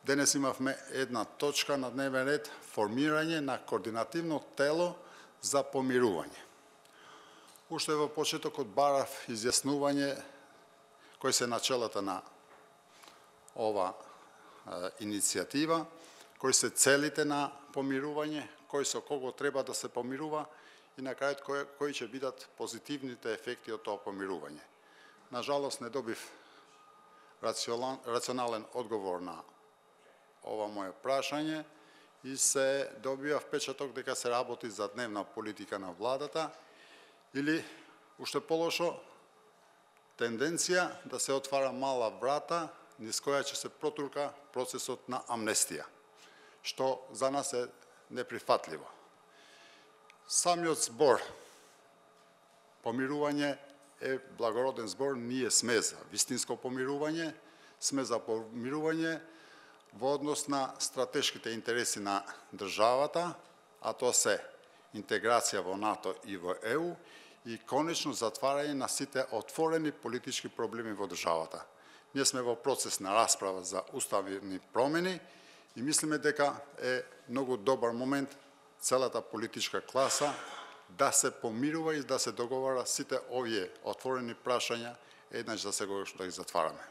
денес имавме една точка на дневен ред, формирање на координативно тело за помирување. Уште во почетокот барав изјаснување кои се начелата на ова иницијатива, кои се целите на помирување, кој со кого треба да се помирува и на крајот кои ќе бидат позитивните ефекти од тоа помирување. На жалост не добив рационален одговор на ова моје прашање и се добива впечаток дека се работи за дневна политика на владата или, уште полошо, тенденција да се отвара мала врата низ која ќе се протурка процесот на амнестија, што за нас е неприфатливо. Самиот збор помирување е благороден збор, ние сме за вистинско помирување, сме за помирување во однос на стратешките интереси на државата, а тоа се интеграција во НАТО и во ЕУ и конечно затварање на сите отворени политички проблеми во државата. Ние сме во процес на расправа за уставни промени и мислиме дека е многу добар момент целата политичка класа да се помирува и да се договара сите овие отворени прашања еднаш за секогаш да ги затвараме.